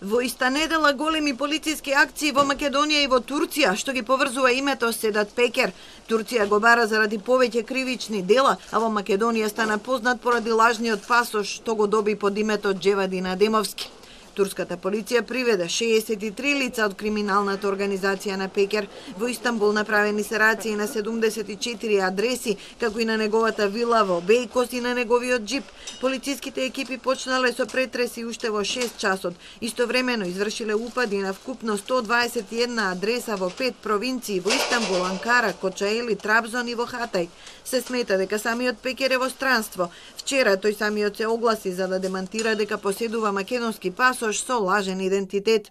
Во иста недела големи полициски акции во Македонија и во Турција, што ги поврзува името Седат Пекер. Турција го бара заради повеќе кривични дела, а во Македонија стана познат поради лажниот пасош што го доби под името Джевадин Адемовски. Турската полиција приведе 63 лица од криминалната организација на Пекер. Во Истанбул направени се рација на 74 адреси, како и на неговата вила во Бејкос и на неговиот џип. Полициските екипи почнале со претреси уште во 6 часот. Истовремено извршиле упади на вкупно 121 адреса во 5 провинции во Истанбул, Анкара, Кочаели, Трабзон и во Хатај. Се смета дека самиот Пекер е во странство. Вчера тој самиот се огласи за да демантира дека поседува македонски пасош со лажен идентитет.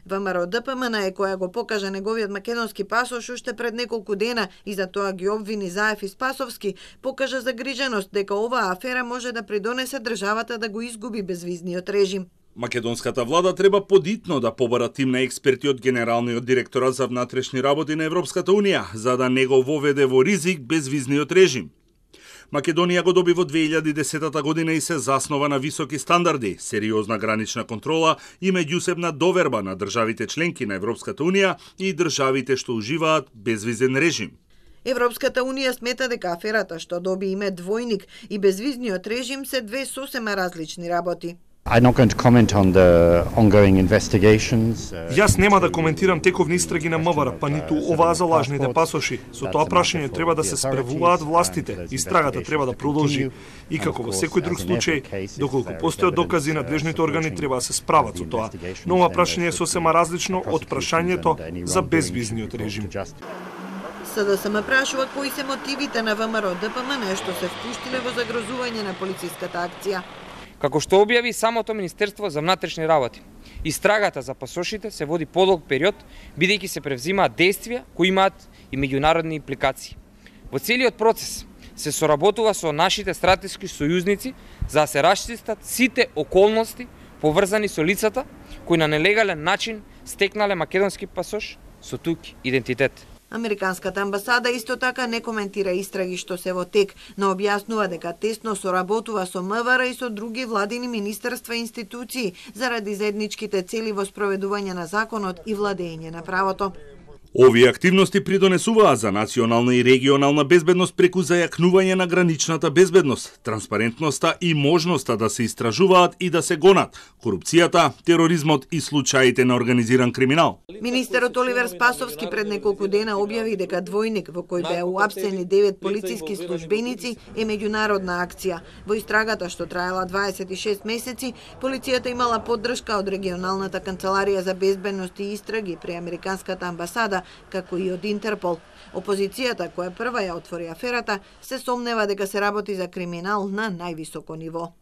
ВМРО ДПМН е која го покажа неговиот македонски пасош уште пред неколку дена и за тоа ги обвини Заев и Спасовски, покажа загриженост дека оваа афера може да придонесе државата да го изгуби безвизниот режим. Македонската влада треба подитно да побара тим на експерти од Генералниот директорат за внатрешни работи на Европската Унија, за да не го воведе во ризик безвизниот режим. Македонија го доби во 2010 година и се заснова на високи стандарди, сериозна гранична контрола и меѓусебна доверба на државите членки на Европската Унија и државите што уживаат безвизен режим. Европската Унија смета дека аферата што доби име двојник и безвизниот режим се две сосема различни работи. Јас нема да коментирам тековни истраги на МВР, па ниту оваа за лажните пасоши. Со тоа прашање треба да се справуваат властите. Истрагата треба да продолжи. И како во секој друг случај, доколку постојат докази, надлежните органи треба да се справат со тоа. Но ова прашање е сосема различно од прашањето за безвизниот режим. СДСМ прашува кои се мотивите на ВМРО ДПМН што се впуштиле во загрозување на полициската акција. Како што објави самото Министерство за внатрешни работи, истрагата за пасошите се води подолг период, бидејќи се превзимаат действија кои имаат и меѓународни импликации. Во целиот процес се соработува со нашите стратешки сојузници за да се расчистат сите околности поврзани со лицата кои на нелегален начин стекнале македонски пасош со тук идентитет. Американската амбасада исто така не коментира истраги што се во тек, но објаснува дека тесно соработува со МВР и со други владини министерства и институции заради заедничките цели во спроведување на законот и владење на правото. Овие активности придонесуваат за национална и регионална безбедност преку зајакнување на граничната безбедност, транспарентноста и можноста да се истражуваат и да се гонат корупцијата, тероризмот и случаите на организиран криминал. Министерот Оливер Спасовски пред неколку дена објави дека двојник во кој беа уапсени 9 полициски службеници е меѓународна акција. Во истрагата што траела 26 месеци, полицијата имала поддршка од регионалната канцеларија за безбедност и истраги при Американската амбасада, како и од Интерпол. Опозицијата, која прва ја отвори аферата, се сомнева дека се работи за криминал на највисоко ниво.